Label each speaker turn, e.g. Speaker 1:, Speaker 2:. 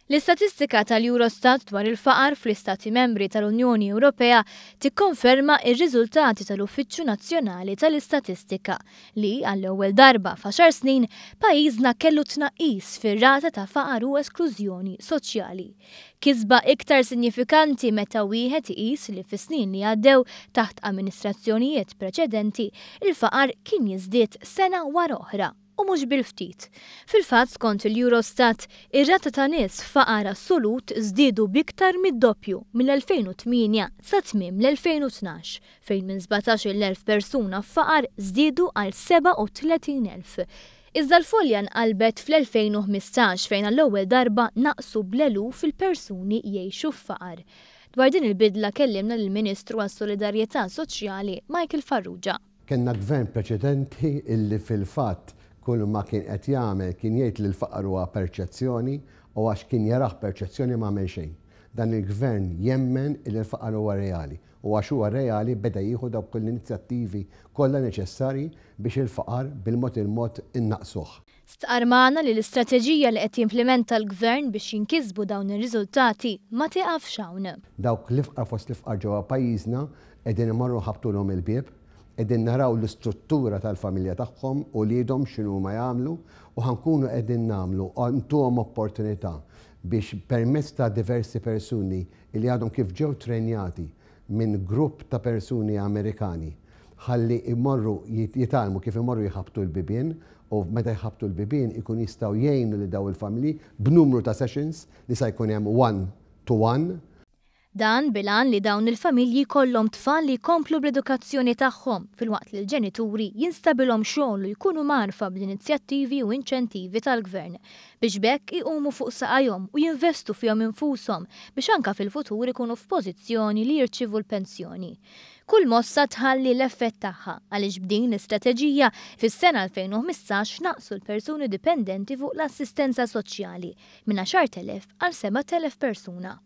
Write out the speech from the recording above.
Speaker 1: L-istatistika tal-Eurostat dwar il-faqar fl-Istati Membri tal-Unjoni Ewropea tikkonferma r-riżultati tal-Uffiċċju Nazzjonali tal-Istatistika li, għall-ewwel darba f'għaxar snin, pajjiżna kellu tnaqqis fir-rata ta' faqar u esklużjoni soċjali. Kisba iktar sinjifikanti meta wieħed iqis li fis-snin li għaddew taħt amministrazzjonijiet preċedenti, il-faqar kien jiżdied sena wara oħra. U mhux bil-ftit. Fil-fatt, skont il-Eurostat, ir-rata ta' nies f'faqar assolut żdiedu b'iktar mid-doppju mill-2008 sa tmiem l-2012, fejn minn 17,000 persuna f'faqar żdiedu għal 37,000. Iżda l-folja nqalbet fl-2015 fejn għall-ewwel darba naqsu bl-eluf il-persuni jgħixu f'faqar. Dwar din il-bidla kellimna lill-Ministru għas-Solidarjetà Soċjali Michael Farrugia.
Speaker 2: Kellna gvern preċedenti illi fil-fatt kull ma kien qed jagħmel kien jgħid li l-faqar huwa perċezzjoni u għax kien jarah perċezzjoni ma għamel xejn. Dan il-gvern jemmen illi l-faqar huwa reali u għax huwa reali beda jieħu dawk l-inizjattivi kollha neċessarji biex il-faqar bil-mod il-mod innaqqsuh.
Speaker 1: Stqarr magħna li l-istrateġija li qed jimplimenta l-Gvern biex jinkisbu dawn ir-riżultati ma tieqafx hawn.
Speaker 2: Dawk l-ifqar fost l-ifqar ġewwa pajjiżna qegħdin imorru nħabbtulhom il-bieb, qegħdin naraw l-istruttura tal-familja tagħhom, uliedhom x'inhuma jagħmlu u ħa nkunu qegħdin nagħmlu ntuhom opportunità biex permezz ta' diversi persuni li għadhom kif ġew trejnjati minn grupp ta' persuni Amerikani ħalli jmorru jitgħallmu kif imorru jħabbtu l-bibien u meta jħabbtu l-bibien ikun jistgħu jgħinu lil dawn il-familji b'numru ta' sessions li sa jkun hemm one to one.
Speaker 1: Dan bil-għan li dawn il-familji jkollhom tfal li jkomplu bl-edukazzjoni tagħhom filwaqt li l-ġenituri jinstabilhom xogħol u jkunu mgħarrfa bl-inizjattivi u inċentivi tal-Gvern biex b'hekk iqumu fuq saqajhom u jinvestu fihom infushom biex anke fil-futur ikunu f'pożizzjoni li jirċievu l-pensjoni. Kull mossa tħalli l-effett tagħha għaliex b'din l-istrateġija fis-sena 2015 naqsu l-persuni dipendenti fuq l-assistenza soċjali minn 10,000 għal 7,000 persuna.